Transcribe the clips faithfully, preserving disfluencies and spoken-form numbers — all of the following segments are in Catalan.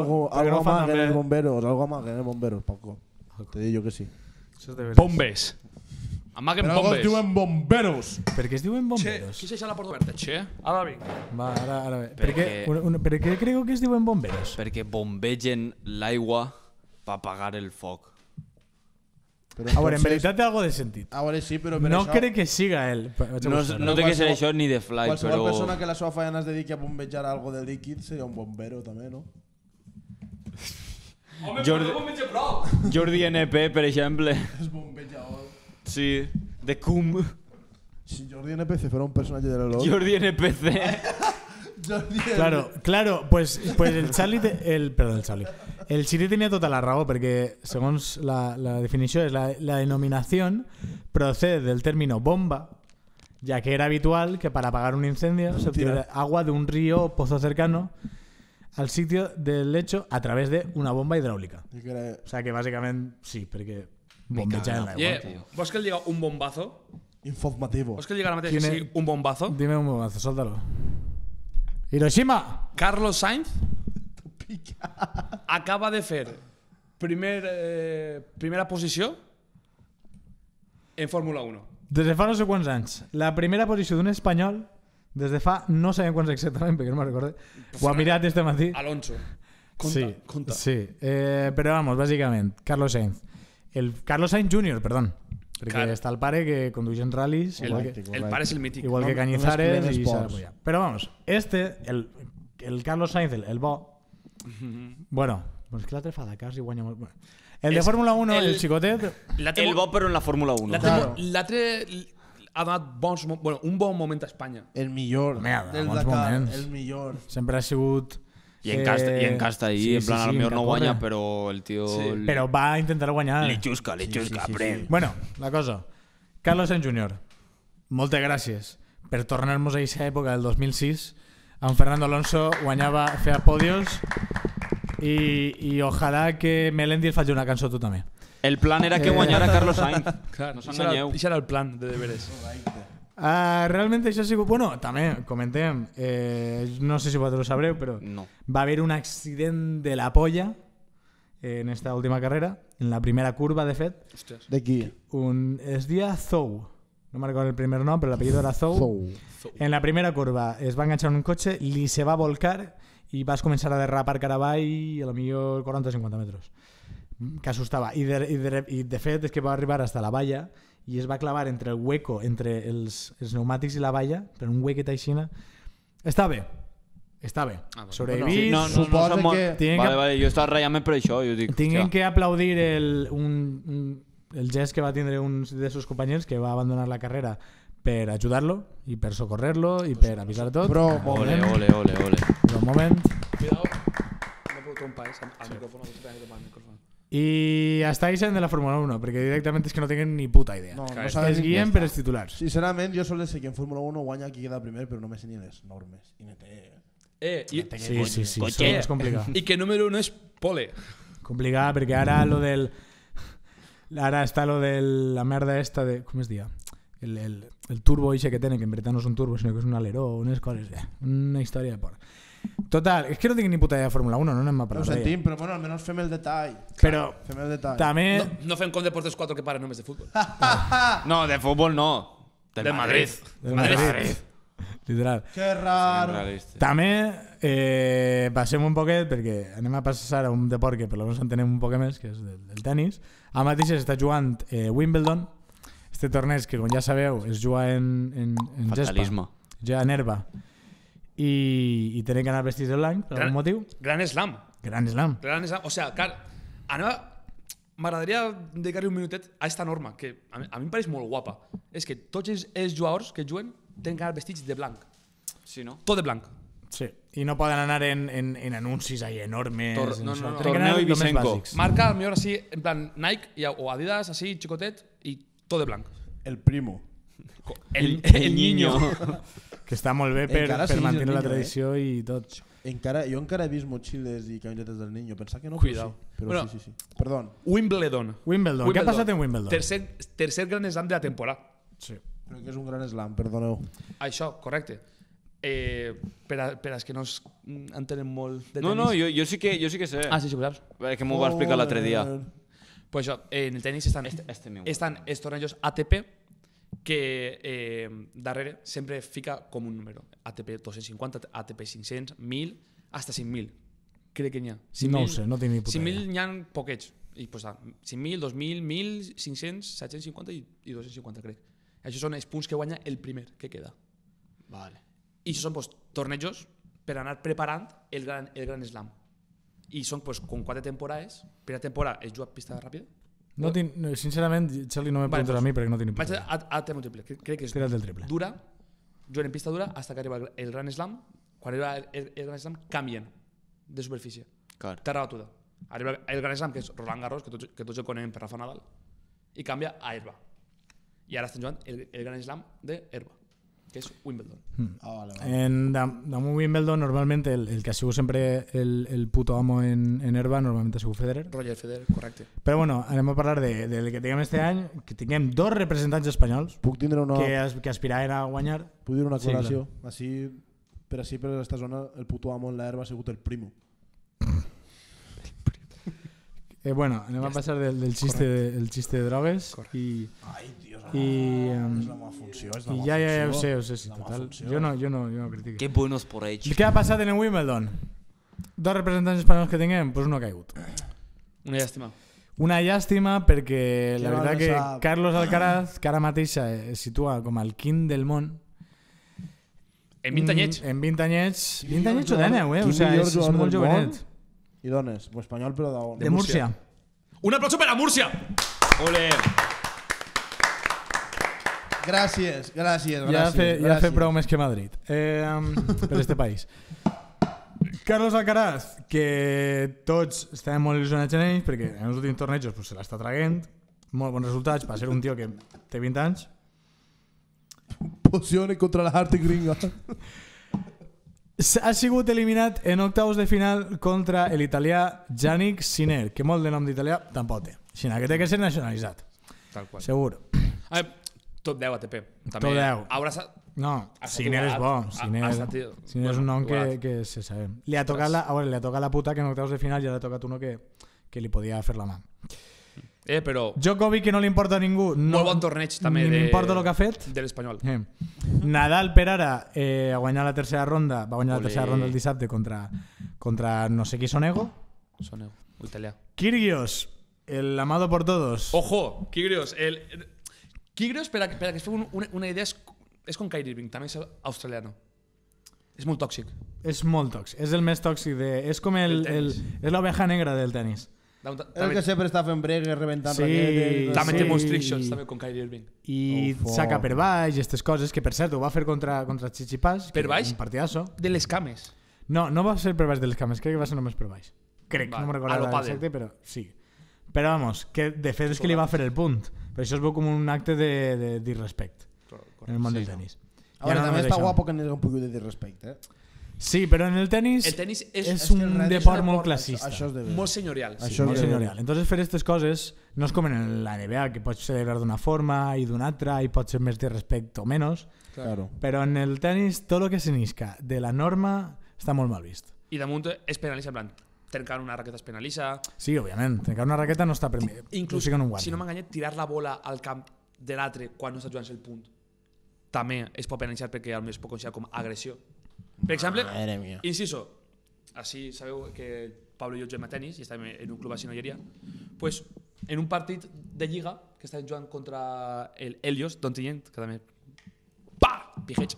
Algo, algo más que en el bomberos, algo más que en el bomberos, Paco. Te digo que sí. Bombes. Amaguen Però algo es bombes. diuen bomberos. Per què es diuen Che, bomberos? qui s'ha la porta oberta? Che, ara vinc. Va, ara, ara bé. Per què, Perquè- una, una, per què creu que es diuen bomberos? Perquè bombegen l'aigua per apagar el foc. Però A veure, en entonces- veritat té algo de sentit. A veure, sí, però per No això... crec que siga ell. Vaig a No, buscar-ho. no té que ser això ni de fly, Qualsevol però... persona que la seva feina es dediqui a bombejar algo de líquid seria un bombero, també, no? Home, Jordi- però no bombeja prou. Jordi N P, per exemple. És bombejador. Sí, de Cum. Si Jordi N P C fuera un personatge de l'Eloi... Jordi N P C. Jordi N P C... Claro, claro, pues, pues el Charlie, te- el, perdó, el Charlie, el Siri tenía tota la raó perquè segons la, la definició és la, la denominación procede del término bomba, ya que era habitual que para apagar un incendio se obtuviera agua de un río o pozo cercano al sitio del hecho a través de una bomba hidráulica. I que era O sea que básicamente sí, perquè bombejaven l'aigua. Yeah. Vols que el diga un bombazo? informativo. Vols que el diga ara mateix Quin que és- sigui un bombazo? Dime un bombazo, suéltalo. Hiroshima. Carlos Sainz acaba de fer primer, eh, primera posició en Fórmula uno. Des de fa no sé quants anys. La primera posició d'un espanyol, des de fa no sabem quants exactament, perquè no me'n recordo. Ho ha mirat este matí. Alonso. Conta, Sí, conta. sí. Eh, però vamos, bàsicament, Carlos Sainz. El Carlos Sainz júnior, perdón. Perquè Clar. està el pare que condueix en ral·lis, igual que, Correcte, El pare és el mític. igual que No- no Cañizares mezclen i s'ha esports. apoyat. Però vamos, este, el, el Carlos Sainz, el, el bo, bueno, pues que l'altre fa Dakar i guanya molt. Bueno. El de És Fórmula uno, el, el- xicotet, L'altre El bo però en la Fórmula uno. l'altre Claro. l'altre ha donat bons, mo- bueno, un bon moment a Espanya. El millor Merda, del bons Dakar. moments. El millor. sempre ha sigut... I en casta, i en casta ahí, sí, en plan, sí, a lo sí, millor que no corre. guanya, però el tio... Sí. li- Però va intentar guanyar. Li xusca, li xusca, sí, sí, pren. sí. Bueno, la cosa. Carlos Sainz júnior, moltes gràcies per tornar-nos a aquesta època del dos mil sis. En Fernando Alonso guanyava, feia podios i, i ojalà que Melendi faci una cançó tu també. El plan era que Eh. guanyara Carlos Sainz. Clar, No això era, s'enganyeu. això era el plan de deberes. Uh, realment això ha sigut... Bueno, també comentem, eh, no sé si vosaltres ho sabreu, però No. va haver un accident de la polla en esta última carrera, en la primera curva, de fet. Hòsties. De qui? Un, es dia Zou. No me recordo el primer nom, però l'apellido era Zou. Zou. En la primera curva es va enganxar en un cotxe, li se va volcar i vas començar a derrapar cara avall a lo millor quaranta o cinquanta metres. Que assustava. I de, i, de, I de fet és que va arribar hasta la valla i es va clavar entre el hueco, entre els, els pneumàtics i la valla, per un huequet aixina. Està bé. Està bé. Ah, bueno. Sobrevivís. Sí, no, no, no, Suposa som molt- que- Tinguem Vale, que- vale, jo estava ratllant-me per això. Jo dic, Tinguem hòstia, que aplaudir el, un, un, el gest que va tindre un de sus compañeros que va abandonar la carrera per ajudar-lo i per socorrer-lo i per avisar tot. Però, Ole, moment, ole, ole, ole. Però un moment. Cuidado. No puc trompar, eh? Al sí. micrófono, no puc trompar al micrófono. I està Isen de la Fórmula uno, perquè directament és que no tenen ni puta idea. no, no Clar, sabe es ni- guien per els titulars. Sincerament, jo solo sé que en Fórmula uno guanya qui queda primer, però no me sé ni les normes. I no té... Eh, i, Sí, sí, sí, Cotxe. això és complicat. i que número uno és Pole. Complicat, perquè ara lo del... Ara està lo de la merda esta de... Com es dia? El, el, el turbo ixe que tenen, que en veritat no és un turbo, sinó que és un aleró, unes coses... Eh, una història de por. Total, és que no tinc ni puta idea de Fórmula uno, no anem a Ho parlar d'ella. sentim, però bueno, almenys fem el detall. Però Fem el detall. també... No, no fem com Deportes quatre que paren només de futbol. No, de futbol no. Del, Del Madrid. Del Madrid. Madrid. Literal. Que raro. Realista. També eh, passem un poquet, perquè anem a passar a un deport que per lo menos entenem un poc més, que és del, del tennis. Ara mateix s'està jugant eh, Wimbledon, este torneig que, com ja sabeu, es juga en, en, en gespa, Fatalisme. ja en herba, i, i tenen que anar vestits de blanc per Gran- algun motiu. Gran slam. Gran slam. Gran slam. O sea, clar, anem a... M'agradaria dedicar-li un minutet a esta norma, que a mi, a mi em pareix molt guapa. És que tots els, els jugadors que juguen tenen que anar vestits de blanc. Sí, no? Tot de blanc. Sí. I no poden anar en, en, en anuncis ahí enormes. Tor- en no, això. no, no. Tenen que anar Torneo lo més Ibisenko. bàsics. Marca, al millor així, en plan Nike i- o Adidas, així, xicotet, i tot de blanc. El primo. El, el niño. Que està molt bé per, Encara per siguis mantenir el la niño, tradició i tot. Encara, jo encara he vist motxilles i camisetes del niño. Pensava que no, Cuidao. però sí. Però Bueno. sí, sí, sí. Perdón. Wimbledon. Wimbledon. Què ha passat en Wimbledon? Tercer, tercer gran slam de la temporada. Sí. Però que és un gran slam, perdoneu. Això, correcte. Eh, per, a, per als que no es entenen molt de tenis... No, no, jo, jo, sí que, jo sí que sé. Ah, sí, sí, ho saps? És que m'ho va explicar l'altre dia. Pues això, en el tenis estan, Este, este meu. estan els tornejos A T P que eh, darrere sempre fica com un número. A T P dos-cents cinquanta, A T P cinc-cents, mil, hasta cinc mil. Crec que n'hi ha. No ho sé, no tinc ni puta cinc mil idea. n'hi ha poquets. I pues, ah, cinc mil, dos mil, mil, cinc-cents, set-cents cinquanta i, i dos-cents cinquanta, crec. Això són els punts que guanya el primer que queda. Vale. I això són pues, tornejos per anar preparant el gran, el gran slam. I són pues, com quatre temporades. Primera temporada es juga a pista ràpida. No tinc, no, sincerament, Charlie, no me Vale, preguntes pues, a mi perquè no tinc ni Vaig puta a, idea. a, a tema triple. Crec, crec que és Tira't del triple. dura, juguen en pista dura hasta que arriba el, el gran slam. Quan arriba el, el, el gran slam canvien de superfície. Clar. Terra batuda. Arriba el gran slam, que és Roland Garros, que tots, que tots el coneixem per Rafa Nadal, i canvia a herba. I ara estan jugant el, el gran slam de herba, que és Wimbledon. Ah, vale, vale. En dam- damunt Wimbledon, normalment, el, el que ha sigut sempre el, el puto amo en, en herba, normalment ha sigut Federer. Roger Federer, correcte. Però bueno, anem a parlar de, del que tinguem este any, que tinguem dos representants espanyols Puc tindre una, que, as, que aspiraven a guanyar. puc dir una Sí, aclaració? Així, per així, per aquesta zona, el puto amo en l'herba ha sigut el primo. Eh, bueno, anem a passar del, del xiste, de, el xiste de drogues i, Ai, Dios, i, um, és la meva funció, és la i meva ja, ja, ja ho funció. sé, ho sé, sí, La meva total. funció. Jo no, jo no, jo no critico. Qué buenos por ells. Què ha passat en el Wimbledon? Dos representants espanyols que tinguem, pues uno ha caigut. Una llàstima. Una llàstima perquè la Que veritat no que sap. Carlos Alcaraz, que ara mateix es situa com el king del món, En vint anyets. mm, en vint anyets, Qui vint millor anyets o jugador- dèneu, eh? qui O sigui, millor és, és jugador molt del món? jovenet. I dones, o espanyol però d'on? De Múrcia. Un aplauso per a Múrcia! Ole! Gràcies, gràcies, gràcies. Ja ha fet, ja ha gràcies. fet prou més que Madrid eh, um, per este país. Carlos Alcaraz, que tots estàvem molt il·lusionats en ell perquè en els últims tornejos pues, se l'està traguent, molt bons resultats per ser un tio que té vint anys. Posione contra la arte gringa. Ha sigut eliminat en octaus de final contra l'italià Yannick Sinner, que molt de nom d'italià tampoc té. Sinó que té que ser nacionalitzat, Tal qual. segur. A veure, top deu A T P. També Top deu. Haurà estat... No, Ha estat Sinner és bo. igualat. Sinner, Ha- ha estat, tio. Sinner és un Bueno, nom que, igualat. que se sabe. Li ha tocat la, a veure, li ha tocat la puta que en octaus de final ja li ha tocat uno que, que li podia fer la mà. Eh, però... Djokovic, que no li importa a ningú. No, Molt bon torneig també ni de... m'importa el que ha fet. De l'Espanyol. Eh. Nadal per ara eh, a guanyar la tercera ronda, va guanyar Olé. la tercera ronda el dissabte contra, contra no sé qui Sonego. Soneu, italià. Kyrgios, el amado por todos. Ojo, Kyrgios. El... el- Kyrgios, per a, per a que es feu un- una, una idea, és, és com Kyrie Irving, també és australiano. És molt tòxic. És molt tòxic. És el més tòxic de... És com el, Del el, tenis. és l'oveja negra del tenis. També, El que sempre està fent bregues, rebentant Sí, raquetes... també sí. té molts trick shots, també, com Kyrie Irving. I Ufo. saca per baix i aquestes coses, que per cert ho va fer contra, contra Tsitsipas. Per que baix? Un partidazo. De les cames. No, no va ser per baix de les cames, crec que va ser només per baix. Crec, Vale. no me'n A recordo lo pàdel. exacte, però sí. Però vamos, que de fet és que li va fer el punt. Per això es veu com un acte de, de disrespect en el món del tenis. A veure, Ja no també només està això. guapo que n'hi un poc de respecte, eh? Sí, però en el tenis, El tenis és, és, que el un red és deport un molt deport, classista. Això és de bé. molt senyorial. Això Sí, molt és de- senyorial. Entonces fer aquestes coses no és com en la N B A, que pots celebrar d'una forma i d'una altra i pot ser més de respecte o menys, Claro. però en el tenis tot el que s'innisca de la norma està molt mal vist. I damunt es penalitza, en plan, trencar una raqueta es penalitza. Sí, òbviament, trencar una raqueta no està permès. Inclús, o sigui, no ho si no m'enganyé, tirar la bola al camp de l'altre quan no està jugant el punt també es pot penalitzar perquè potser es pot considerar com agressió. Per exemple, Madre mía. inciso, així sabeu que Pablo i jo juguem a tenis i estàvem en un club així no hi pues, en un partit de lliga que estàvem jugant contra el Helios d'Ontinyent, que també pa! Pijeig.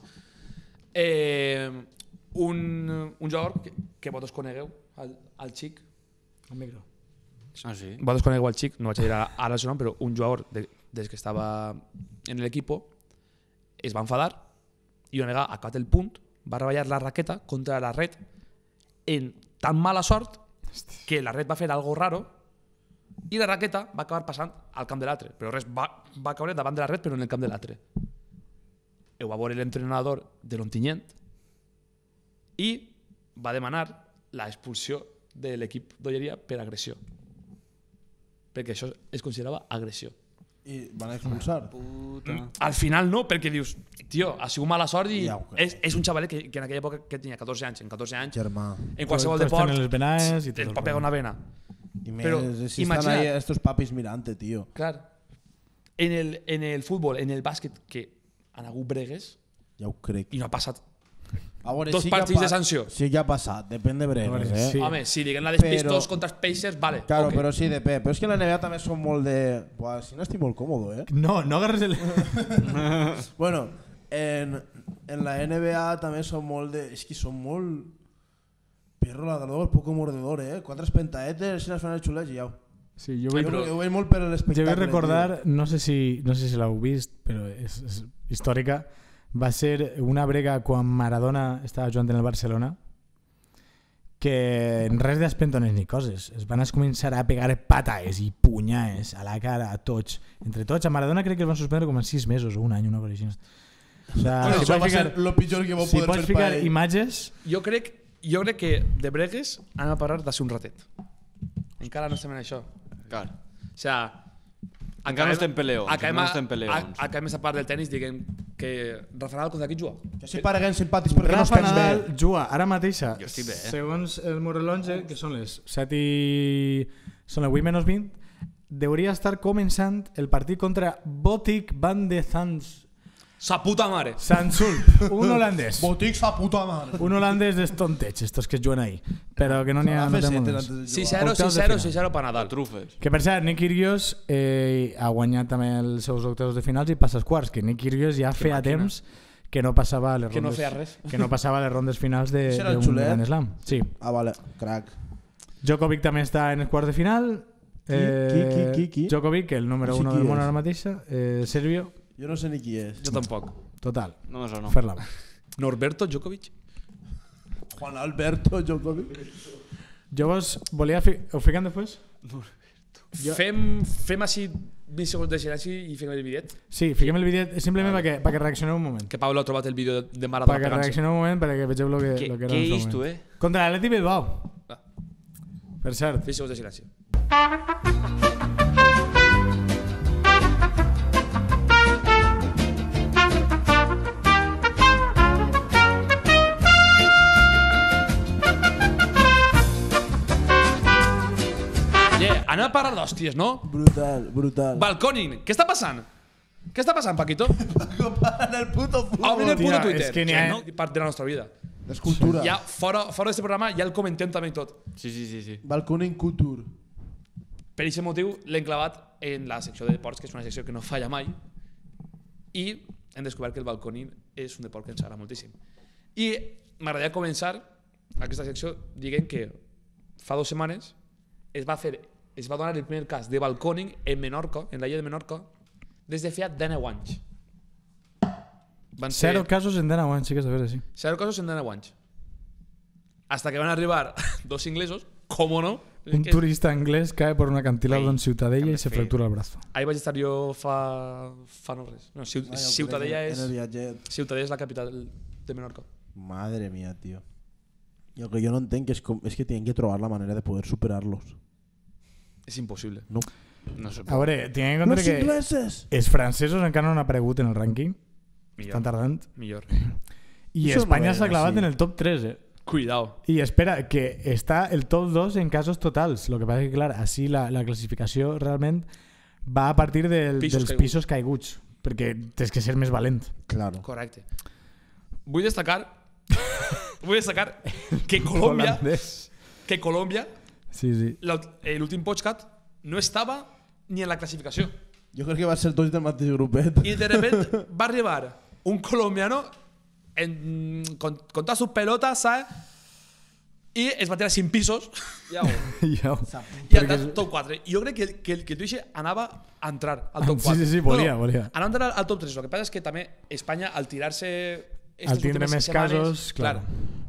Eh, un, un jugador que, que vosaltres conegueu, el, el xic, El micro. Ah, sí? vosaltres conegueu el xic, no vaig a dir ara el seu nom, però un jugador de, des que estava en l'equip es va enfadar i va negar, acabat el punt, va reballar la raqueta contra la red en tan mala sort que la red va fer algo raro i la raqueta va acabar passant al camp de l'altre, però res, va, va caure davant de la red però en el camp de l'altre. Ho va veure l'entrenador de l'Ontinyent i va demanar l'expulsió de l'equip d'Olleria per agressió, perquè això es considerava agressió. I van expulsar. Puta. Al final no, perquè dius, tio, ha sigut mala sort i Ja ho crec. és, és un xavalet que, que en aquella època que tenia catorze anys, en catorze anys, Germà. en qualsevol Tots deport, tenen les venaes i tot et el pot pegar rollo. una vena. I més, Però, si imagina't. estan ahí estos papis mirante, tio. Clar, en el, en el futbol, en el bàsquet, que han hagut bregues Ja ho crec. i no ha passat. A veure, Dos sí que ha partits pa- de sanció. Sí que ha passat, depèn de bregues, A veure, eh? sí. Home, si diguem la dels Però- Pistons contra els Pacers, vale. Claro, ok. però sí, depèn. Però és que en la N B A també són molt de... Buah, si no estic molt còmodo, eh? No, no agarres el... Bueno, en, en la N B A també són molt de... És que són molt... Perro ladrador, poco mordedor, eh? Quatre pentaetes, si les fan els xulets i ja. Sí, jo Jo, vull, però... ho veig molt per jo l'espectacle. vull recordar, no sé si, no sé si l'heu vist, però és, és històrica, va ser una brega quan Maradona estava jugant en el Barcelona, que res d'espentones ni coses. Es van començar a pegar pataes i punyaes a la cara a tots. Entre tots, a Maradona crec que el van suspendre com en sis mesos o un any, una cosa així. O sea, Bueno, si això pots va ficar, ser lo pitjor que va si poder pots fer ficar per ell. imatges... Jo crec, jo crec que de bregues han de parar de ser un ratet. Encara no estem en això. Clar. O sea, Encara no estem peleons, Acabem, encara no estem a, peleons. a, acabem esta part del tenis, diguem que Rafa Nadal contra qui juga? Que si pareguen simpàtics perquè no Rafa estem Nadal bé. juga ara mateixa, Jo estic bé, eh? segons el meu rellotge, que són les set i... són les vuit menys vint, hauria estar començant el partit contra Botic van de Zans... Sa puta mare! Sansul, un holandès. Botics a puta mare. Un holandès d'estonteig, estos que es juguen ahí. Però que no n'hi ha... No té molt més. sis zero, Octaus sis de zero, final. sis zero per Nadal. Trufes. Que per cert, Nick Kyrgios eh, ha guanyat també els seus octaus de finals i passa als quarts, que Nick Kyrgios ja feia màquina. temps que no passava a les Que no rondes, feia res. que no passava a les rondes finals de, Això era el d'un xulet? Grand Slam. Sí. Ah, vale, crac. Djokovic també està en els quarts de final. Qui, qui, qui, qui, qui? Djokovic, el número Sí, uno qui del món és? ara mateixa, eh, Serbio, Jo no sé ni qui és. Jo tampoc. total, No me sona. fer-la. Norberto Djokovic? Juan Alberto Djokovic. Jo vos volia... Fi... Ho fiquem després? Jo- Fem, fem així vint segons de silenci i fem el bidet. Sí, fiquem el vídeo simplement perquè, perquè reaccioneu un moment. Que Pablo ha trobat el vídeo de Maradona Perquè pegant-se. reaccioneu un moment perquè vegeu lo que, Què, lo que era què en el és seu tu, moment. eh? Contra l'Atleti Bilbao. Ah. Per cert, vint segons de silenci. Yeah, anem a parlar d'hòsties, no? Brutal, brutal. Balconing, què està passant? Què està passant, Paquito? En el puto Obrin el fútbol. puto Tia, Twitter. és que n'hi ha- no? Part de la nostra vida. Escultura. Ja, fora, fora d'aquest programa, ja el comentem també i tot. Sí, sí, sí, sí. Balconing Couture. Per aquest motiu l'hem clavat en la secció de deports, que és una secció que no falla mai, i hem descobert que el balconing és un deport que ens agrada moltíssim. I m'agradaria començar aquesta secció dient que fa dues setmanes es va fer, es va donar el primer cas de balconing en Menorca, en la illa de Menorca, des de feia dinou anys. Van ser zero casos en deu anys, sí que és de veure, sí. zero casos en dinou anys. Hasta que van arribar dos inglesos, com no? Un que- turista anglès cae por un acantilado Ei, en Ciutadella que y se me fe- fractura el brazo. Ahí vaig estar jo fa, fa no res. No, Ciut Ah, ja ho Ciutadella crec, és, En el viatget. Ciutadella és la capital de Menorca. Madre mía, tío. Y lo que yo no entiendo es, com- es que tienen que trobar la manera de poder superarlos. És impossible. No. No sé. A veure, tinguem en compte Los que ingleses! els francesos encara no han aparegut en el rànquing, estan Millor. tardant, Millor. i Això no Espanya ven s'ha clavat així. en el top tres, eh? Cuidao. I espera, que està el top dos en casos totals. El que passa és que, clar, així la, la classificació realment va a partir del, Pisos dels caiguts. pisos caiguts, perquè tens que ser més valent. Claro. Correcte. Vull destacar vull destacar que Colòmbia Holandès. que Colòmbia Sí, sí. la- eh, l'últim podcast no estava ni en la classificació. Jo crec que va ser tots del mateix grupet. I de repente va arribar un colombiano en, con, con todas sus pelotas, ¿sabes? Y es va tirar cinc pisos Ja. i Perquè- al top quatre. I jo crec que, el- que, el- que tu anava a entrar al top Sí, quatre. sí, sí, volia, volia. Anava a entrar al top tres. El que passa és que també Espanya, al tirar-se... Al tindre més casos, clar.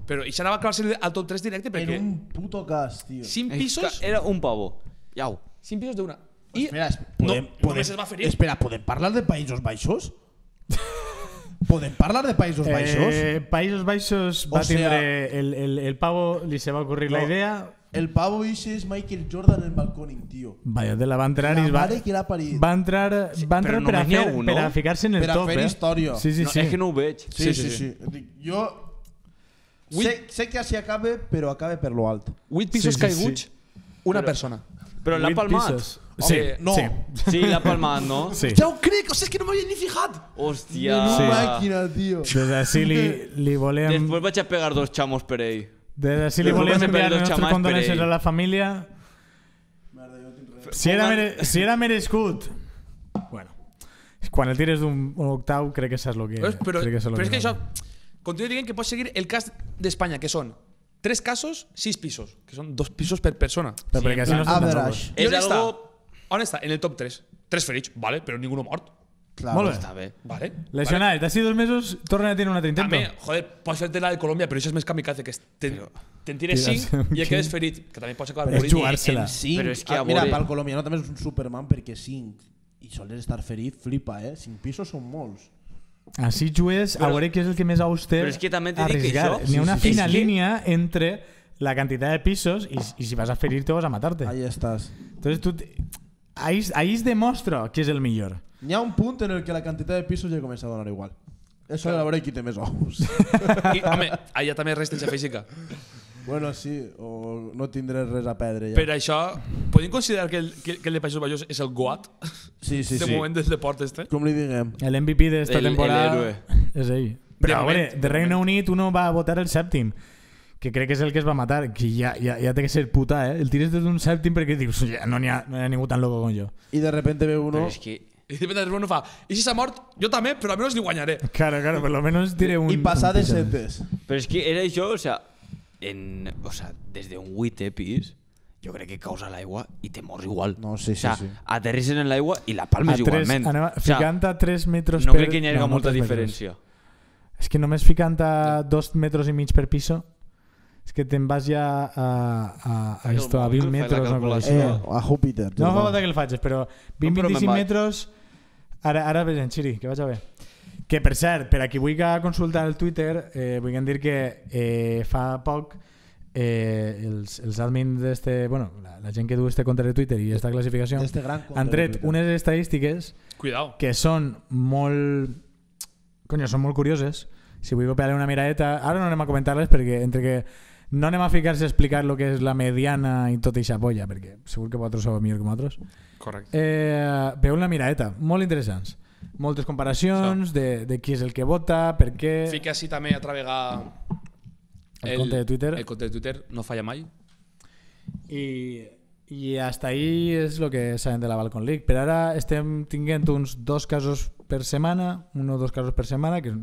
Però això anava a clavar-se al top tres directe En perquè un puto cas, tío. cinc És pisos, que Era un pavo. Iau. cinc pisos d'una. I Espera, es- no, podem, podem, només es va ferir. espera, ¿podem parlar de Països Baixos? ¿Podem parlar de Països Baixos? Eh, Països Baixos O va sea- tindre el, el, el pavo li se va ocurrir la No. idea, El pavo ese es Michael Jordan en el balcón, tío. Vaya, te la va entrar La i va, mare que l'ha parit. va entrar, va entrar però per, a només n'hi ha fer, un, per a no? ficar-se en el Per a top, fer eh? història. Sí, sí, No, sí. és que no ho veig. Sí, sí, sí. Dic, Jo sé, sé que així acabe, però acabe per lo alt. vuit pisos Sí, sí, caiguts, sí. una Però- persona. Però l'ha Vuit palmat. pisos. Sí, Home, no. sí. Sí, l'ha palmat, no? Sí. Ja ho crec, o sigui, és que no m'havia ni fijat. Hòstia. Sí. Màquina, tio. Des d'ací li, li volem... Després vaig a pegar dos xamos per ell. Des d'ací li Després volem vaig a enviar pegar les dos nostres xamals per condolences ell. a la família. Merda, jo tinc res. Si era, mere, si era merescut... Bueno, quan el tires d'un un octau crec que saps el que... Però, però, crec que saps lo però és que no. això... Continuo dient que pots seguir el cas d'Espanya, que són tres casos, sis pisos, que són dos pisos per persona. Però perquè així no estan tan Average. locos. I on És està? algo... On està? En el top tres. Tres ferits, vale, però ningú mort. Claro. Molt bé. Està bé. Vale. Lesionat, d'ací dos mesos tornen a tenir un altre intento. També, joder, pots fer-te la de Colòmbia, però això és més kamikaze, que és te'n te tires Tirar-se cinc un i et quedes cinc. ferit, que també pots acabar És morint. jugar-se-la. En cinc. Però és que ah, a mira, veure- pel colombiano també és un Superman perquè cinc i sols estar ferit, flipa, eh? Cinc pisos són molts. Així jugues, a Però- veure què és el que més auster Però és que també t'he dit que arriesgar. això- N'hi ha una Sí, sí, fina és que- línia entre la cantidad de pisos i, i si vas a ferir-te vas a matarte. Ahí estàs. Entonces tú te- ahí, ahí es demostra qui és el millor. N'hi ha un punt en el que la quantitat de pisos ja comença a donar igual. Eso de a veure qui té més ous. I, home, allà també resistència física. Bueno, sí, o no tindré res a perdre ja. Per això, podem considerar que el, que, que el de Països Baixos és el GOAT Sí, sí, de sí. moment del deport este? Com li diguem. El M V P d'esta El- temporada el héroe. és ell. De Però a moment, veure, de de Regne Unit uno va a votar el sèptim, que crec que és el que es va matar, que ja, ja, ja té que ser puta, eh? El tires des d'un sèptim perquè dius, ja, no n'hi ha, no hi ha ningú tan loco com jo. I de repente ve uno... Però és que... I de repente uno fa, i si s'ha mort, jo també, però almenys li guanyaré. Claro, claro, per lo menos diré un... I passar un de pis més. setes. Però és que era això, o sea, en, o sea, des d'un vuitè pis, jo crec que causa l'aigua i te mors igual. No, sí, o sea, sí, sí. aterrisses en l'aigua i la A palmes tres, igualment. anem a, O sea, ficant a tres metres no per... crec que hi hagi no, molta molts metres. diferència. És que només ficant a dos metres i mig per piso, és que te'n vas ja a, a, a, el esto, a mòbil, vint fai la metres. Una cosa així. calculació. Eh, a Júpiter. No fa germà. falta que el facis, però vint No, però vint-i-cinc me'n vaig. metres... Ara, ara ves en Xiri, que vaig a veure. Que, per cert, per a qui vulgui consultar el Twitter, eh, vull dir que eh, fa poc eh, els, els admins d'este... Bueno, la, la gent que du este compte de Twitter i esta classificació D'este gran compte han de tret Twitter. unes estadístiques Cuidao. que són molt... Coño, són molt curioses. Si vull pegar una miradeta... Ara no anem a comentar-les perquè entre que no anem a ficar-se a explicar lo que és la mediana i tota eixa polla, perquè segur que vosaltres sabeu millor que nosaltres. Correcte. Eh, veu una miradeta, molt interessants. Moltes comparacions de, de qui és el que vota, per què... Fica així també a travegar El compte de Twitter. El compte de Twitter no falla mai. I, i hasta ahí és el que sabem de la Balcon League. Per ara estem tinguent uns dos casos per setmana, un o dos casos per setmana, que és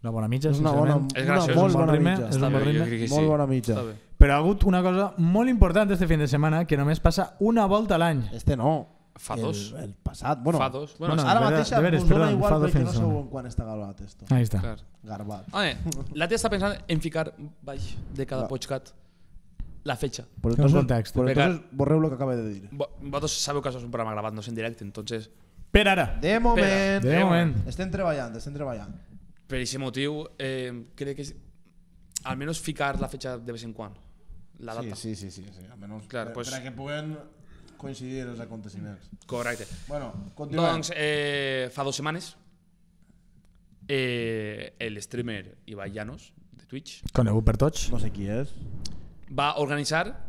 una bona mitja, És una bona, sincerament. És una graciós, molt és un bona ritme, mitja. és un bon bé, ritme. jo crec que sí. Molt bona mitja. Està bé. Però ha hagut una cosa molt important este fin de setmana, que només passa una volta a l'any. Este no. Fa dos. El, el passat. Bueno, Fa dos. Bueno, Bueno, sí, ara de mateix veres, de veres, us dona perdó, igual fa dos perquè fins no de sabeu setmana. en quan està gravat esto. Ahí està. clar. Garbat. Home, la tia està pensant en ficar baix de cada Va. podcast la fecha. Pues Un entonces, context. pues Venga. entonces borreu lo que acaba de dir. Vo- Vosaltres sabeu que això és un programa gravat, no és en directe, entonces, Per ara. De moment. De moment. Estem treballant, estem treballant. per aquest motiu, eh, crec que és, almenys ficar la fecha de vez en quan. La Sí, data. sí, sí, sí, sí. Almenys Clar, per, pues- per a que puguen coincidir els aconteciments. Correcte. Bueno, continuem. Doncs eh, fa dues setmanes eh, el streamer Ibai Llanos de Twitch Conegut per tots. No sé qui és. va organitzar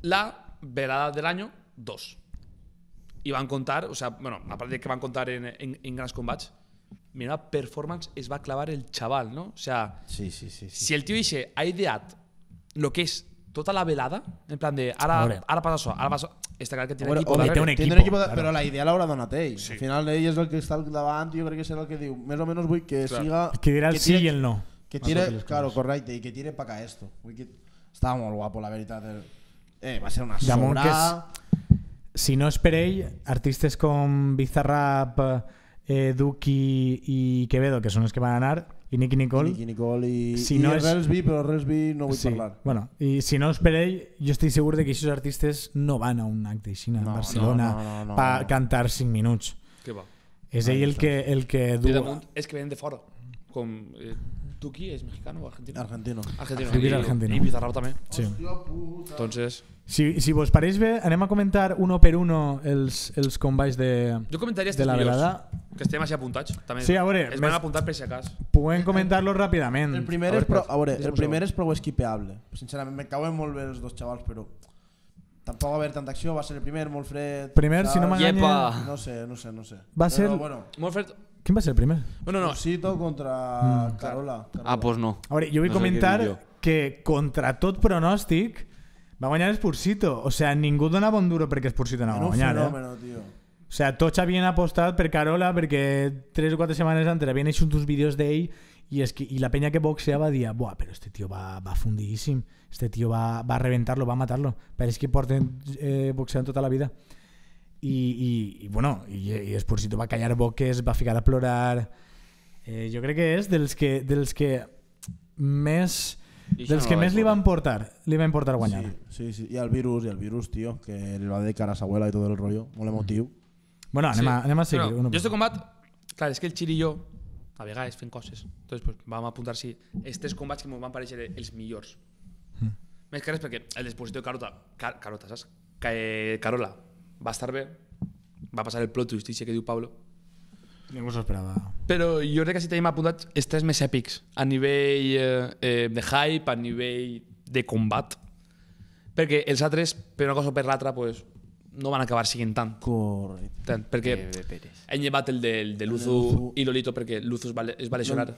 la velada del año dos. Y van a contar, o sea, bueno, aparte de que van a contar en, en, en Grans Combats, mira, performance es va a clavar el chaval, ¿no? O sea, Sí, sí, sí. sí. si el tío dice, ha ideat lo que es toda la velada, en plan de, Ahora. ahora, ahora pasa eso, ahora pasa Está clar que tiene Hombre, equipo. hombre, té un té equipo, un equipo de, claro. però la idea l'haurà donat ell. Sí. Al final ell és el que està al davant i jo crec que serà el que diu més o menys vull que Clar. siga... Que dirà el que sí tire- i el no. Que Más tire, lo que les claro, coses. correcte, i que tire pa acá esto. Vull que... Estava molt guapo, la veritat. Eh, va ser una Damunt que sobrada. Si no és per ell, artistes com Bizarrap, eh, Duki i Quevedo, que són els que van anar, i Nicky Nicole, Nicky Nicole i, Si i no és- Relsby, però Relsby no vull sí, parlar. bueno, i si no és per ell, jo estic segur de que aquests artistes no van a un acte així a No, Barcelona no, no, no, per no. cantar cinc minuts. Què va? És ell el que, el que I du... damunt és que venen de fora. Com eh, Tuki és mexicano o argentino? Argentino. Argentino. Tuki és I- argentino. I Bizarrap també. Sí. Entonces, Si, si vos pareix bé, anem a comentar uno per uno els, els combats de, jo comentaria de estes la millors, velada. que estem així apuntats. També. Sí, a veure, Es més- van apuntar per si acas. Puguem comentar-los ràpidament. El primer, A és veure, pro, a veure, deixa'm el un primer segon. és prou esquipeable. Sincerament, me cauen molt bé els dos xavals, però tampoc va haver tanta acció, va ser el primer, molt fred. Primer, si no saps? m'enganya- Yepa. No sé, no sé, no sé. Va ser- Però, bueno, Molt fred. Quin va ser el primer? Bueno, no. Osito contra Mm. Carola. Carola. Ah, pues no. A veure, jo vull No sé comentar què dir jo. que contra tot pronòstic va guanyar Espursito. O sea, ningú donava un duro perquè Espursito anava Era a un guanyar. Eh? fenòmeno, tio. O sea, tots havien apostat per Carola perquè tres o quatre setmanes antes havien hecho uns vídeos d'ell i, es que, i la peña que boxeava dia, buah, però este tio va, va fundidíssim, este tio va, va a reventarlo, va a matarlo. Pareix que porten eh, boxeant tota la vida. I, i, i bueno, i, i Espursito va callar boques, va ficar a plorar. Eh, jo crec que és dels que, dels que més... I això Dels no que la més vaig li van veure. portar, li van portar a guanyar. Sí, sí, sí. Y al virus, y al virus, tío, que le va a dedicar a su abuela y todo el rollo. Molt emotiu. Bueno, anem, Sí. a, anem a seguir. Bueno, uno jo per este uno. combat, clar, és que el Xiri i jo a vegades fem coses. Entonces, pues, vam apuntar si els tres combats que ens van parèixer els millors. Mm. Més que res perquè el dispositiu de Carota, Car Carota, saps? Que Carola va estar bé, va passar el plot twist que diu Pablo, Ningú s'ho esperava. però jo crec que sí tenim apuntats els tres més èpics a nivell eh, eh, de hype, a nivell de combat, perquè els altres, per una cosa o per l'altra, pues, no van acabar siguent tant. Correcte. tant perquè Eh, bé, Pérez. hem llevat el de, el de Luzu Luzu. i Lolito perquè Luzu es va, es va lesionar.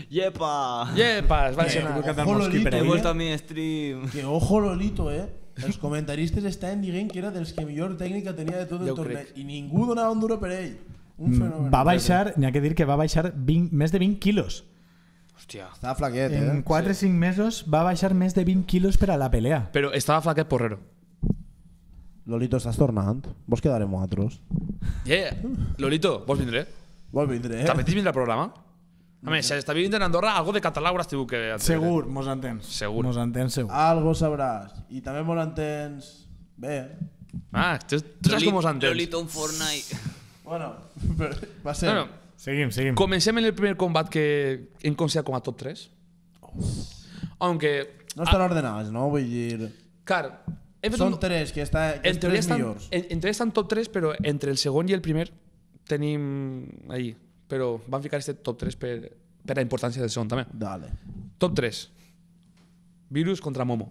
Yepa! Yepa, es va Eh, lesionar. que cantar ojo, mosqui Lolito, per He ahí, vuelto eh? a mi stream. Que ojo Lolito, eh? Els comentaristes estaven dient que era dels que millor tècnica tenia de tot el Ja ho torneig. crec. I ningú donava un duro per ell. Un fenomen. Va baixar, n'hi ha que dir que va baixar vint, més de vint quilos. Hòstia. Estava flaquet, eh? En quatre o cinc mesos va baixar més de vint quilos per a la pelea. Però estava flaquet porrero. Lolito, estàs tornant? Vols quedar amb nosaltres? Yeah. Lolito, vols vindre? Vol vindre, eh? També tens vindre al programa? A més, si està vivint en Andorra, algo de català hauràs tingut que... Segur, mos entens. Segur. Mos entens segur. Algo sabràs. I també molt entens... Bé. Ah, tu, tu saps com us entens. Lolito en Fortnite. Bueno, però va ser... Bueno, Seguim, seguim. comencem en el primer combat que hem considerat com a top tres. Aunque... No estan ordenats, no? Vull dir... Clar, hem fet Són un... tres, que, està, que En els teoria tres estan, millors. en, en teoria estan top tres, però entre el segon i el primer tenim ahí. Però van ficar este top tres per, per la importància del segon també. Dale. Top tres. Virus contra Momo.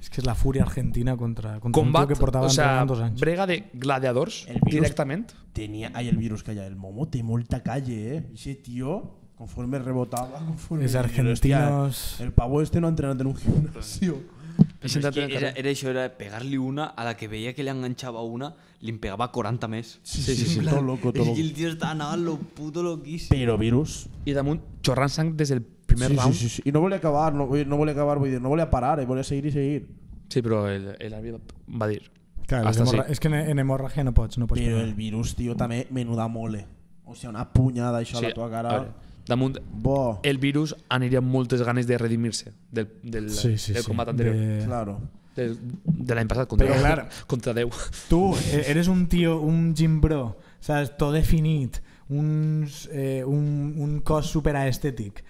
És que és la fúria argentina contra, contra un Combat, tio que portava o sea, entrenant dos anys. brega de gladiadors El virus- directament. Tenía... Ay, el virus que hay. El Momo té molta calle, eh? Ese tío, conforme rebotaba, conforme... Els Hòstia, argentinos... el pavo este no ha entrenat en un gimnasio. He És sentat que en el era, carrer. era això, era pegar-li una a la que veia que li enganxava una, li en pegava quaranta més. Sí, sí, sí. En plan, Todo loco, todo és loco. que el tio estava anava lo puto loquíssim. Pero virus... I damunt, xorrant sang des del primer sí, round. sí, sí, sí. I no volia acabar, no, vull dir, no volia acabar, vull dir, no volia parar, eh? Volia seguir i seguir. Sí, però el, el àrbitre va dir... Claro, Hasta hemorra... sí. és que en, en hemorràgia no pots, no pots Però pegar. el virus, tio, també menuda mole. O sigui, una punyada això a la tua a cara. veure, damunt, Bo, el virus aniria amb moltes ganes de redimir-se del, del, Sí, sí, del sí. combat anterior. De... claro. Del, de l'any passat contra, Però, clar, contra Déu. Tu eh, eres un tio, un gym bro, saps? Tot definit, uns, eh, un, un cos superaestètic,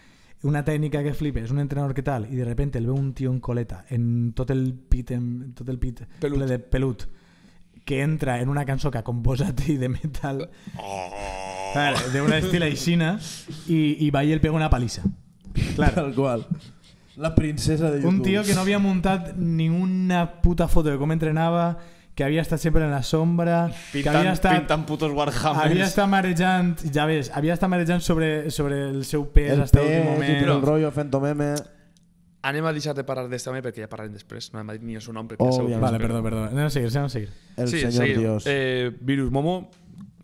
una tècnica que flipes, un entrenador que tal, i de repente el veu un tio en coleta, en tot el pit, en tot el pit Pelut. ple de pelut, que entra en una cançó que ha composat i de metal, clar, d'una estil aixina, i, i va i el pega una palissa. Clar, Tal qual. La princesa de YouTube. un tio que no havia muntat ni una puta foto de com entrenava, que havia estat sempre en la sombra, que havia estat, pintant putos Warhammers. havia estat marejant, ja ves, havia estat marejant sobre, sobre el seu pes El fins l'últim pez, moment. el rollo, fent meme. Anem a deixar de parlar d'este home perquè ja parlarem després. No hem dit ni el seu nom perquè Oh, ja sabeu. ja. Vale, perdó, perdó. Anem a seguir, anem a seguir. El sí, senyor seguim. Dios. Eh, Virus Momo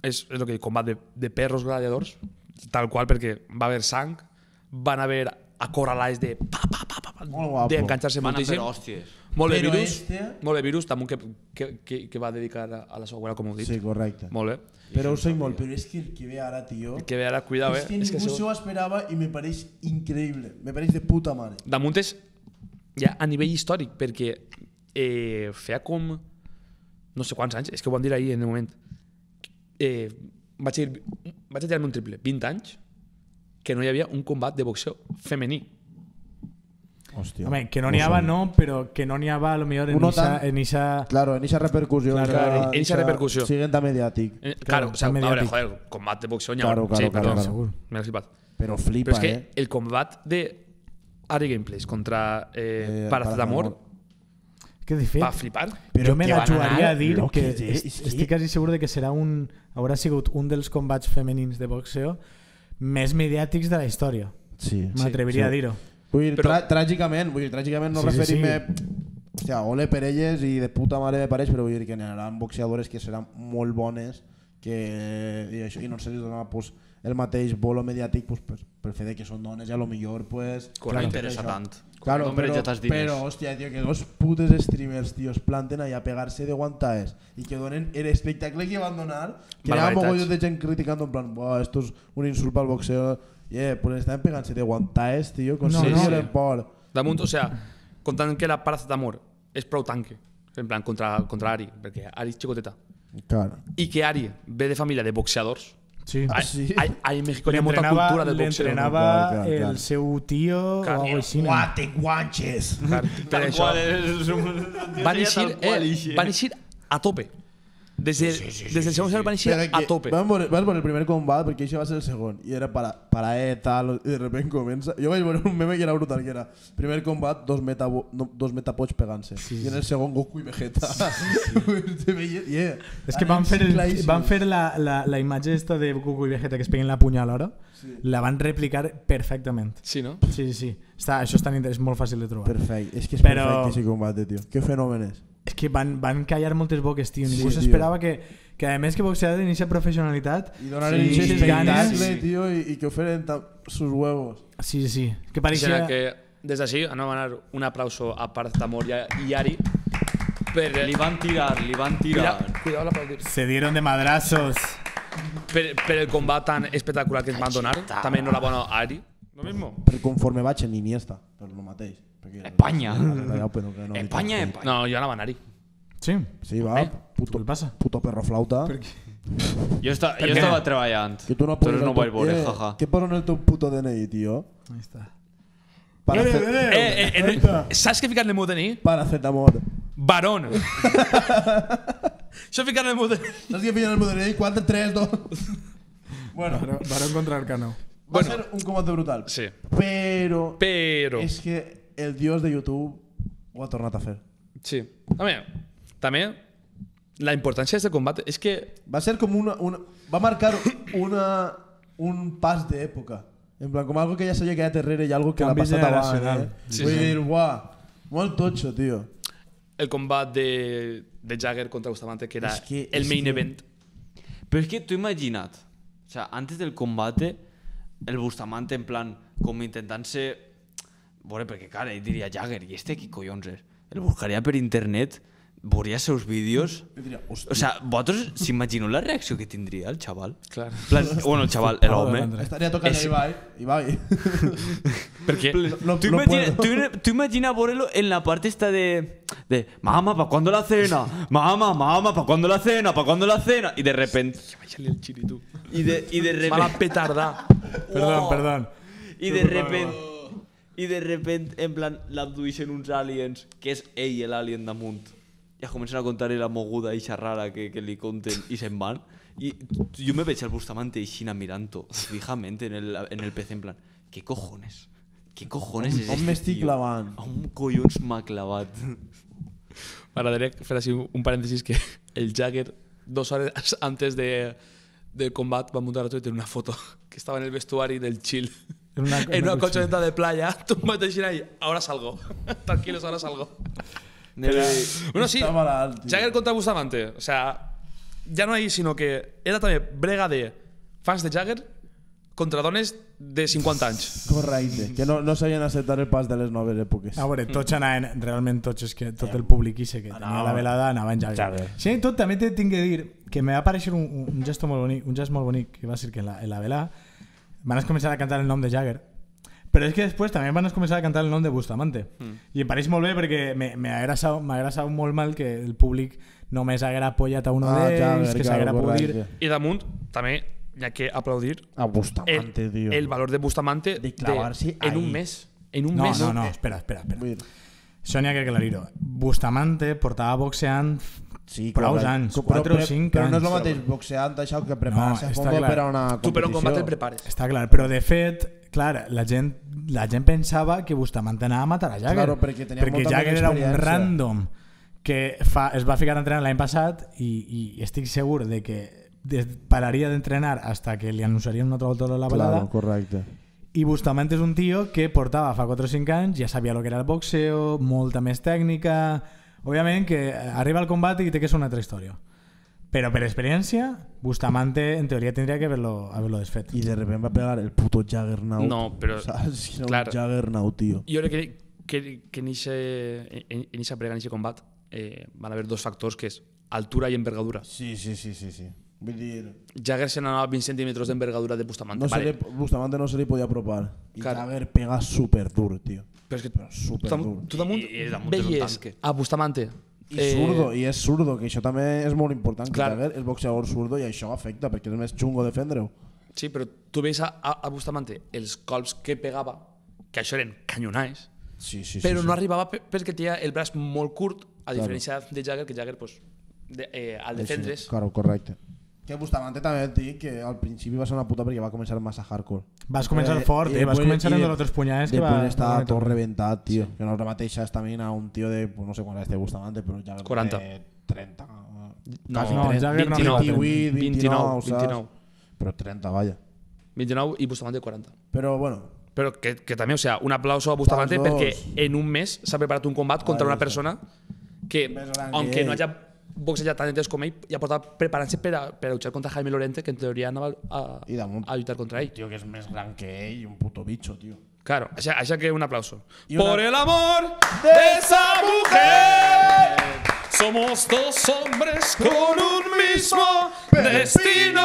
és, és el que dic, combat de, de perros gladiadors, tal qual, perquè va haver sang, van haver acorralades de pa, pa, pa, pa, pa Molt guapo. d'enganxar-se Van a fer moltíssim. hòsties. Molt bé, Però Virus. este- Molt bé, Virus, també que, que, que, que va dedicar a, a la seva abuela, com heu dit. Sí, correcte. Molt bé. Però ho sé molt, però és que el que ve ara, tio... Que ve ara, cuidao, eh? és que ningú que se això- ho esperava i me pareix increïble. Me pareix de puta mare. damunt és ja a nivell històric, perquè eh, feia com no sé quants anys, és que ho van dir ahir en el moment, eh, vaig, dir, vaig tirar-me un triple, vint anys, que no hi havia un combat de boxeo femení. Hòstia. Home, que no n'hi havia, no, però que no n'hi havia a lo millor en Uno esa, tan- en esa... Claro, en esa repercusión. Claro, claro, en esa repercusión. Siguen tan mediátic. Eh, Claro, claro, o sea, a tan veure, mediàtic. joder, combat de boxeo n'hi ha. Claro, claro, sí, claro, perdó, claro. Segur. m'he flipat. Però flipa, Però és que eh? el combat de Ari Gameplays contra eh, Eh, Paracetamol Que de fet, va flipar. jo me que la van jugaria anar a dir loques, que eh? est- És que- estic quasi segur de que serà un, haurà sigut un dels combats femenins de boxeo més mediàtics de la història. Sí. M'atreviria sí. a dir-ho. Vull dir, Però- tra tràgicament, vull dir, tràgicament no Sí, sí, referim-me... Hòstia, ole per elles i de puta mare me pareix, però vull dir que n'hi haurà boxeadores que seran molt bones que, i, això, i no se li dona pues, el mateix bolo mediàtic pues, per, per fer de que són dones i a lo millor pues, No interessa tant. Claro, No mereix però, ja diners. però, hòstia, tio, que dos putes streamers, tio, es planten allà a pegar-se de guantaes i que donen el espectacle que van donar, que hi ha Barbaritats. mogollons de gent criticando en plan, buah, esto es un insult pel boxeo. Yeah, pues estaven pegant-se de guantaes, tio, con No, serio no. el por. Damunt, o sea, comptant que la Paracetamol és prou tanque, en plan, contra, contra Ari, perquè Ari és xicoteta, Claro. i que Ari ve de família de boxeadors. Sí. Ah, Hay, sí? hay, hay en México hi ha molta L'entrenava- cultura del boxeo. l'entrenava Clar, clar, clar. el seu tio Clar, o alguna cosa així. Guate guanches. Clar, per Tal això qual és un... van eixir, tal qual eh, eixe. van eixir a tope. Des, de, sí, sí, sí, des del segon cel van eixir Pero a que tope. Vas veure, vas veure el primer combat, perquè això va ser el segon, i era para, para E, tal, i de repente comença... Jo vaig veure un meme que era brutal, que era primer combat, dos, meta, no, dos metapots pegant-se, sí, i en el segon Goku i Vegeta. Se veia, yeah. És que van fer, el, Claríssim. van fer la, la, la imatge esta de Goku i Vegeta que es peguen la punya alhora, sí. La van replicar perfectament. Sí, no? Sí, sí, sí. Està, això és, tan, inter- és molt fàcil de trobar. Perfecte, és que és Però- perfecte ese combate, tio. Que fenomen és. És que van, van callar moltes boques, tio. Ningú Sí, s'esperava que, que a més que boxear tenir aquesta professionalitat I donar sí, el sí, espectacle, ganes. tio, i, i que oferen sus huevos. Sí, sí. Que Pareixia... pareixia... que des d'ací anem a donar un aplauso a Paracetamol i, a- i Ari per, Li van tirar, li van Cuidado, tirar. cuidado l'aplaudir. Se dieron de madrazos. Per, per el combat tan espectacular que ens van donar. També enhorabona a Ari. Lo mismo. Per conforme vaig en Iniesta, per lo mateix. Perquè- Espanya. Però que no, Espanya, Espanya. No, jo anava a Ari. Sí. Sí, va, Home, puto, què passa? puto perro flauta. Jo, esta, jo què? estava treballant. Que tu no Però poses no el ho vaig teu- veure, eh, jaja. Què posa en el teu puto D N I, tio? Ahí está. Para, Eh, hacer, eh, Eh, eh, eh, no, saps què ficar en el meu D N I? Paracetamol. Barón. Això ficar en el meu D N I. Saps què feien el meu D N I? quatre, tres, dos... Bueno, Varón, varón contra el cano. va Bueno. ser un combate brutal. Sí. Però, Però... és que el dios de YouTube ho ha tornat a fer. Sí. També, també la importància d'aquest combat és que Va ser com una... una va marcar una, un pas d'època. En plan, com algo que ja s'havia quedat darrere i algo que l'ha Canvi passat abans. generacional. Eh? Sí, Vull sí. dir, uah, molt totxo, tio. el combat de, de Jagger contra Bustamante, que era És que- el és main que- event. Pero es que tú imaginad, o sea, antes del combate, el Bustamante en plan, como intentant-se... Bueno, perquè cara, ell diria Jagger, i este qui collons és? El buscaria per internet, veuria els seus vídeos... Jo diria, hòstia, O sea, vosaltres s'imagineu la reacció que tindria el xaval? Clar. En plan, bueno, el xaval, l'home... estaria tocant és- a Ibai. Ibai. Perquè No, Tú, no imagina, puedo. tú, tú imagina verlo en la parte esta de, de mamá, ¿para cuándo la cena? Mamá, mamá, ¿para cuándo la cena? ¿Para cuándo la cena? Y de repente... Vaya-li el xiri, tu. Y de, y de Mala repente... petarda. Perdón, perdón. Y de repente... Y de repente, en plan, l'abdueixen uns aliens, que és ell l'alien damunt. I es comencen a contar la moguda eixa rara que, que li conten i se'n van. I jo me veig al Bustamante eixina mirant-ho fijament en el, en el P C en plan, ¿qué cojones? ¿Qué cojones és On este m'estic tio? clavant? On collons m'ha clavat? M'agradaria fer així un parèntesis que el Jagger, dos hores antes de, del combat, va muntar a Twitter una foto que estava en el vestuari del chill. En una- en una en una colchoneta de playa, tumbado ahí, ahora salgo. Tranquilos, ahora salgo. Bueno, sí, Està malalt, tio. Jagger contra Bustamante. O sea, ya no hay, sino que era també brega de fans de Jagger contra dones de cinquanta anys. Correcte. Que no, no sabien acceptar el pas de les noves èpoques. A veure, tots anaven, realment tots, és que tot el públic ixe que tenia Anava- la velada anava en Jagger. Jagger. Sí, tot també te tinc que dir que me va aparèixer un, un gesto molt bonic, un gest molt bonic, que va ser que en la, en la velada van començar a cantar el nom de Jagger, però és que després també van començar a cantar el nom de Bustamante. Mm. I em pareix molt bé perquè me- m'ha agradat, m'ha agradat molt mal que el públic només haguera apoyat a uno Ah, d'ells, Jagger, que claro, s'haguera pogut dir... correcte. I damunt, també, hi ha que aplaudir A Bustamante, el, tío. el valor de Bustamante De clavarse en un ahí. mes. En un No, mes. no, no, espera, espera, espera. Vull dir, Això n'hi ha que aclarir-ho. Bustamante portava boxeant Sí, prou correcte. anys, Però- quatre o però- cinc Però no és anys. el mateix boxeant això que preparar-se No, a està fondo clar. per a una competició. Tu per un combat el prepares. Està clar, però de fet, clar, la gent, la gent pensava que Bustamante anava a matar a Jagger. Claro, perquè tenia perquè molta Jagger més era un experiència. random que fa, es va ficar a entrenar l'any passat i, i estic segur de que des, pararia d'entrenar hasta que li anunciarien una altra volta la velada. Claro, correcte. I Bustamante és un tio que portava fa quatre o cinc anys, ja sabia el que era el boxeo, molta més tècnica. Òbviament que arriba al combat i té que ser una altra història. Però per experiència, Bustamante en teoria tindria que haver-lo haver desfet. I de repente va pegar el puto Juggernaut. No, però- Saps? Era clar. un Juggernaut, tio. Jo crec que, que, que en aquesta prega, en aquest combat, eh, van haver dos factors, que és altura i envergadura. Sí, sí, sí, sí, sí. Vull dir, Jagger se n'anava a vint centímetres d'envergadura de Bustamante. no se vale. le, Bustamante no se li podia apropar. I Clar. Jagger pega super dur, tio. Però és que Però super tu, dur. tu damunt I- i damunt és un veies tanque. a Bustamante. I surdo, i és surdo, que això també és molt important. Que Clar. Jagger és boxeador surdo i això afecta, perquè és més xungo defendre-ho. Sí, però tu veus a, a, a Bustamante els colps que pegava, que això eren canyonais, Sí, sí, sí. però sí. no arribava pe- perquè tenia el braç molt curt, a diferència de Jagger, que Jagger, pues, de, eh, al defendre's... Claro, correcte. Que Bustamante també et dic que al principi va ser una puta perquè va començar massa hardcore. Vas començar Eh, fort, i eh? Vas després- començar i en de- los otros puñales que va... Després està va tot meter. reventat, tio. Que no és la mateixa estamina un tio de, pues no sé quan és de Bustamante, però ja quaranta. de trenta. No, quasi no, trenta, Jagger no arriba a vint-i-vuit, vint-i-nou, saps? vint-i-nou. Però trenta, vaya. vint-i-nou i Bustamante quaranta. Però bueno, Però que, que també, o sea, un aplauso a Bustamante Pels dos. perquè en un mes s'ha preparat un combat contra una persona que, Més gran que aunque no ell. haya boxejat tant de temps com ell, ja portava preparant-se per a, per a luchar contra Jaime Lorente, que en teoria anava a, i damunt, a lluitar contra ell. tio que és més gran que ell, un puto bicho, tio. Claro, això, això que un aplauso. Y una- Por el amor de esa mujer, somos dos hombres con un mismo destino.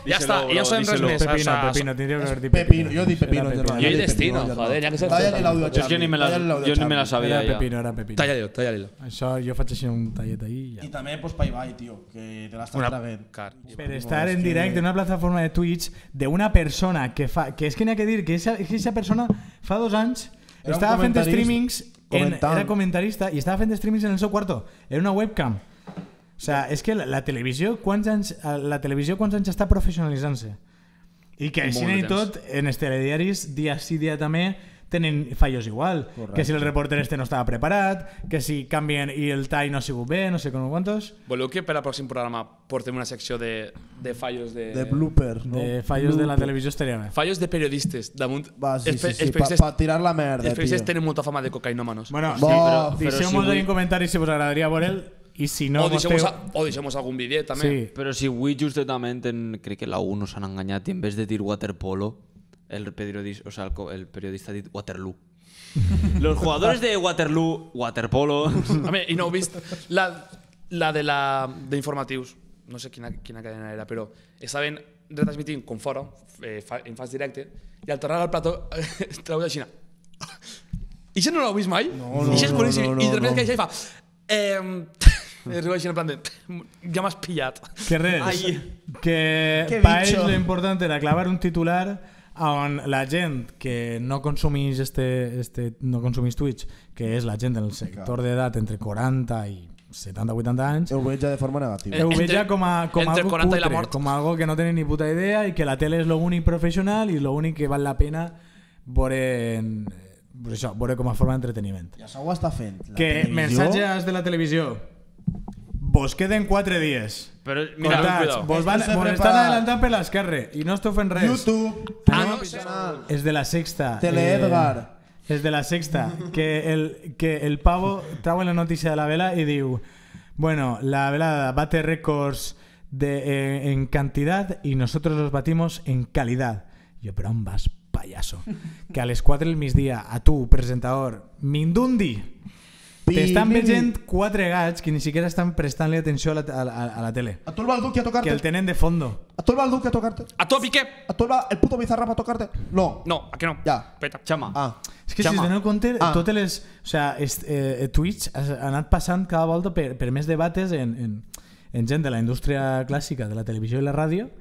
Ja està, Díselo, i no sabem res díselo. més. o Pepino, sea, Pepino, tindria que haver dit Pepino, jo dic Pepino, Era germà. Jo he dic destino, Pepino, joder, germà. ja que se- Talla-li l'àudio a Jo és que ni me la, Talla-li l'àudio a jo ni me la Xavi. sabia Era ja. Pepino, era Pepino. Talla-li-ho, talla-li-ho. Això jo faig així un tallet ahí i I ja. també, pues, Paibai, tio, que te l'estàs Una- traguent. Car. Per estar en directe en una plataforma de Twitch d'una persona que fa... Que és que n'hi ha que dir que aquesta persona fa dos anys Era un estava fent comentarista, streamings... En, comentant. era comentarista i estava fent streamings en el seu quarto. Era una webcam. O sea, és que la, la televisió, quants anys, la televisió quants anys està professionalitzant-se? I que així Molt de i tot, en els telediaris, dia sí, dia també, tenen fallos igual. Correcte. Que si el reporter este no estava preparat, que si canvien i el tall no ha sigut bé, no sé com quantos. Voleu que per al pròxim programa portem una secció de, de fallos de... De bloopers, no? De fallos de la televisió estaria bé. Fallos de periodistes. Damunt, Va, sí, els, sí, pe- sí, els pa, periodistes, pa tirar la merda, els periodistes tio. tenen molta fama de cocainòmanos. Bueno, Bo, sí, però deixeu-nos si ahí vull- en comentaris si us agradaria veure-el i si no... o, deixem vostè- a, o deixem algun vídeo també. Sí. Però si avui justament en, crec que la U no s'han enganyat i en vez de dir waterpolo, el periodista, o sea, el, co- el periodista ha dit Waterloo. Los jugadores de Waterloo, waterpolo... A mi, i no heu vist la, la de la d'informatius, no sé quina, quina cadena era, però estaven retransmitint com fora, eh, fa, en fas directe, i al tornar al plató treu de Xina. I això no l'heu vist mai? No, no, I això és no, boníssim. no, no, I de repente no. que això i fa... Eh, es riu així en plan de... Ja m'has pillat. Que res, Ai. que Que pa bicho. ells l'important era clavar un titular on la gent que no consumís este, este, no consumís Twitch, que és la gent del sector d'edat entre quaranta i setanta a vuitanta anys, Ho veig ja de forma negativa. Eh, ho entre- veig ja com, a, com entre algo quaranta i la cutre, mort. com algo que no tenen ni puta idea i que la tele és l'únic professional i l'únic que val la pena veure, en, pues això, veure com a forma d'entreteniment. Ja s'ho està fent. La Que televisió- mensatges de la televisió. Vos queden quatre dies. Però mira, Mira, Cortats, cuidado. vos, van, Esto se vos prepara. estan adelantant per l'esquerra i no esteu fent res. YouTube, Ah, ah, no, no, sí. És de la sexta. Teleedgar. Eh, és de la sexta. Que el, que el pavo trau la notícia de la vela i diu bueno, la velada bate récords de, eh, en cantidad y nosotros los batimos en calidad. Yo, pero on vas, payaso? Que a les quatre del migdia a tu, presentador, Mindundi, t'estan Pi, veient quatre gats que ni siquiera estan prestant-li atenció a la, a, la, a la tele. A tu el va el Duque a Que tocarte. el tenen de fondo. A tu el va el Duque a tocarte. A tu, Piqué! A tu el va el puto Bizarrap a tocarte. No. No, a que no? Ja. Peta. Chama. Ah. És que si Xama. us doneu compte, Ah. totes les... O sea, est, eh, Twitch ha, ha anat passant cada volta per, per més debates en, en, en gent de la indústria clàssica de la televisió i la ràdio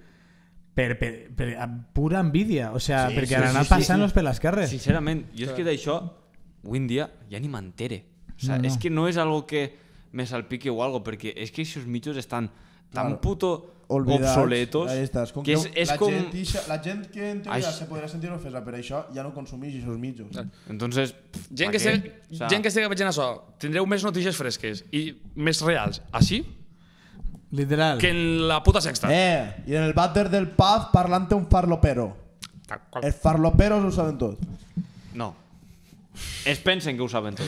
per, per, per pura envidia. O sea, Sí, perquè sí, han anat sí, sí, passant-los sí. per l'esquerra. Sincerament, jo és que d'això avui en dia ja ni m'entere. O sea, No, no. és que no és algo que me salpique o algo, perquè és que aquests mitjos estan tan Claro. puto Olvidats. obsoletos Ahí estàs. Com que és, que és la, com... gent, ixa, la gent que en teoria Ai. se podrà sentir ofesa per això ja no consumeix aquests mitjos. Entonces, Gent ¿pa que, qué? estigui, O sea, gent que estigui veient això, tindreu més notícies fresques i més reals així Literal. que en la puta sexta. Eh, i en el vàter del pub parlant un farlopero. Tal qual. Els farloperos ho saben tot. No. Es pensen que ho saben tot.